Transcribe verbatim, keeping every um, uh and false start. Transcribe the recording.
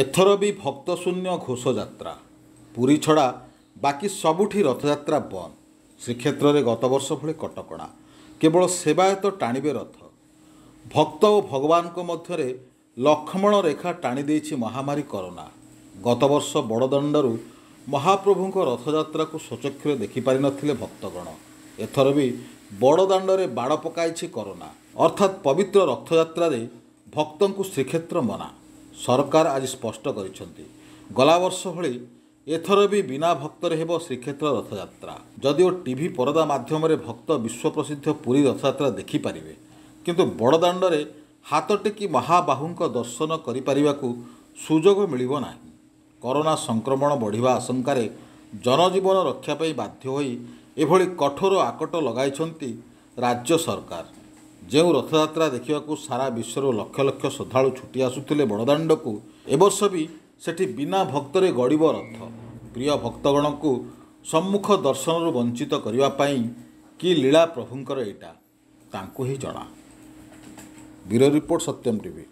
ଏଥର ବି ଭକ୍ତଶୂନ୍ୟ ଘୋଷଯାତ୍ରା। ପୁରୀ ଛଡ଼ା ବାକି ସବୁଠି ରଥଯାତ୍ରା ବନ୍ଦ। ଶ୍ରୀକ୍ଷେତ୍ରରେ ଗତବର୍ଷ ଭଳି କଟକଣା। କେବଳ ସେବାୟତ ଟାଣିବେ ରଥ। ଭକ୍ତ ଓ ଭଗବାନଙ୍କ ମଧ୍ୟରେ ଲକ୍ଷ୍ମଣ ରେଖା ଟାଣି ଦେଇଛି ମହାମାରୀ କରୋନା। ଗତବର୍ଷ ବଡ଼ଦାଣ୍ଡରୁ ମହାପ୍ରଭୁଙ୍କ ରଥଯାତ୍ରାକୁ ସ୍ୱଚକ୍ଷୁରେ ଦେଖିପାରିନଥିଲେ ଭକ୍ତଗଣ। ଏଥର ବି ବଡ଼ଦାଣ୍ଡରେ ବାଡ଼ ପକାଇଛି କରୋନା। ଅର୍ଥାତ୍ ପବିତ୍ର ରଥଯାତ୍ରାରେ ଭକ୍ତଙ୍କୁ ଶ୍ରୀକ୍ଷେତ୍ର ମନା। ସରକାର ଆଜି ସ୍ପଷ୍ଟ କରିଛନ୍ତି, ଗଲାବର୍ଷ ଭଳି ଏଥର ବି ବିନା ଭକ୍ତରେ ହେବ ଶ୍ରୀକ୍ଷେତ୍ର ରଥଯାତ୍ରା। ଯଦିଓ ଟିଭି ପରଦା ମାଧ୍ୟମରେ ଭକ୍ତ ବିଶ୍ୱପ୍ରସିଦ୍ଧ ପୁରୀ ରଥଯାତ୍ରା ଦେଖିପାରିବେ, କିନ୍ତୁ ବଡ଼ଦାଣ୍ଡରେ ହାତ ଟେକି ମହାବାହୁଙ୍କ ଦର୍ଶନ କରିପାରିବାକୁ ସୁଯୋଗ ମିଳିବ ନାହିଁ। କରୋନା ସଂକ୍ରମଣ ବଢ଼ିବା ଆଶଙ୍କାରେ ଜନଜୀବନ ରକ୍ଷା ପାଇଁ ବାଧ୍ୟ ହୋଇ ଏଭଳି କଠୋର ଆକଟ ଲଗାଇଛନ୍ତି ରାଜ୍ୟ ସରକାର। ଯେଉଁ ରଥଯାତ୍ରା ଦେଖିବାକୁ ସାରା ବିଶ୍ୱରୁ ଲକ୍ଷ ଲକ୍ଷ ଶ୍ରଦ୍ଧାଳୁ ଛୁଟି ଆସୁଥିଲେ ବଡ଼ଦାଣ୍ଡକୁ, ଏବର୍ଷ ବି ସେଠି ବିନା ଭକ୍ତରେ ଗଡ଼ିବ ରଥ। ପ୍ରିୟ ଭକ୍ତଗଣଙ୍କୁ ସମ୍ମୁଖ ଦର୍ଶନରୁ ବଞ୍ଚିତ କରିବା ପାଇଁ କି ଲୀଳା ପ୍ରଭୁଙ୍କର ଏଇଟା, ତାଙ୍କୁ ହିଁ ଜଣା। Bureau report, Satyam TV.